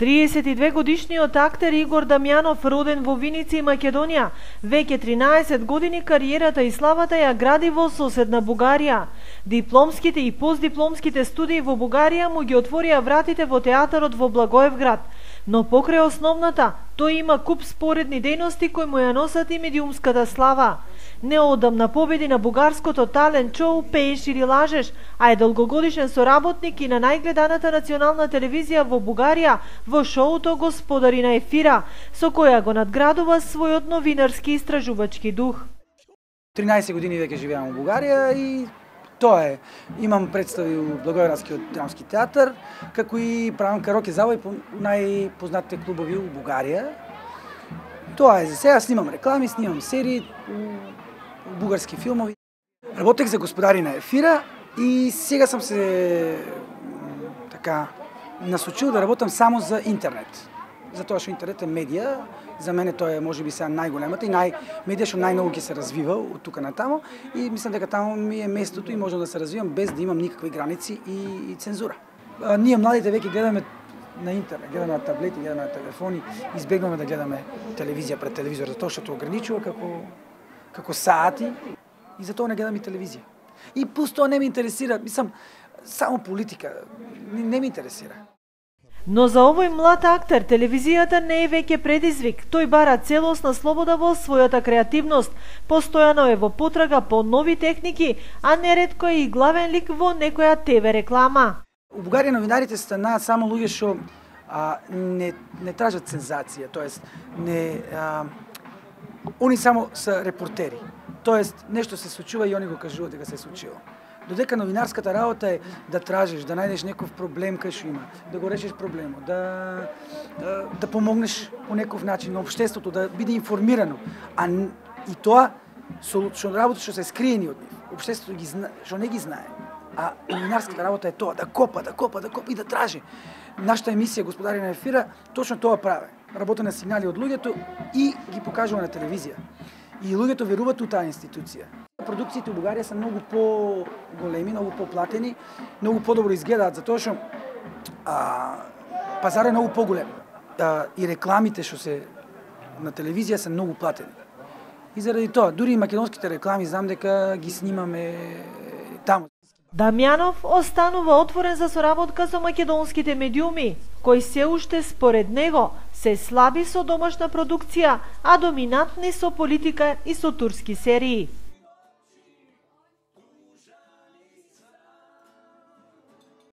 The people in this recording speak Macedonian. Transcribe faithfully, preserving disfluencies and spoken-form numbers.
триесет и две годишниот актер Игор Дамјанов, роден во Виница, Македонија, веќе тринаесет години кариерата и славата ја гради во соседна Бугарија. Дипломските и постдипломските студии во Бугарија му ги отворија вратите во театарот во Благоевград, но покрај основната, тој има куп споредни дејности кои му ја носат и медиумската слава. Неодамна победи на бугарското талент шоу "Пееш или лажеш", а е долгогодишен соработник и на најгледаната национална телевизија во Бугарија во шоуто "Господари на ефира", со која го надградува својот новинарски истражувачки дух. тринаесет години веќе живеам во Бугарија и тоа е. Имам представи у Благоевградскиот драмски театар, како и правам караоке забави по најпознатите клубови у Бугарија. Тоа е за сега, снимам реклами, снимам серии, бугарски филмови. Работех за "Господари на ефира" и сега сам се така насочил да работам само за интернет. Затоа што интернет е медија, за мене тоа е можеби сега најголемата и нај медија што најмногу ќе се развива од тука натамо и мислам дека таму ми е местото и можам да се развивам без да имам никакви граници и, и цензура. А, ние младите веќе гледаме на интернет, гледаме на таблети, гледаме на телефони, избегнуваме да гледаме телевизија пред телевизор, затоа што тоа ограничува како како сати и затоа не гледам и телевизија. И пусто не ме интересира, мислам, само политика, не, не ме интересира. Но за овој млад актер телевизијата не е веќе предизвик. Тој бара целосна слобода во својата креативност. Постојано е во потрага по нови техники, а неретко е и главен лик во некоја те ве реклама. У Бугарија новинарите станаат само луѓе што а, не не тражат сензација, тоест не а, они само се репортери. Тоест нешто се случува и они го кажуваат дека се случило. Додека новинарската работа е да тражиш, да најдеш некој проблем кај што има, да го решиш проблемот, да, да да помогнеш по некој начин на општеството да биде информирано, а и тоа со што работа што се скриени од нив. Општеството ги зна, што не ги знае. А новинарската работа е тоа, да копа, да копа, да копа и да тражи. Нашата емисија "Господари на ефира" точно тоа прави. Работа на сигнали од луѓето и ги покажува на телевизија. И луѓето веруваат у таа институција. Продукциите у Бугарија се многу по-големи, многу по-платени, многу подобро изгледаат, затоа што а, пазарот е многу поголем. А, и рекламите што се на телевизија се многу платени. И заради тоа, дури и македонските реклами знам дека ги снимаме таму. Дамјанов останува отворен за соработка со македонските медиуми, кои се уште според него се слаби со домашна продукција, а доминантни со политика и со турски серии.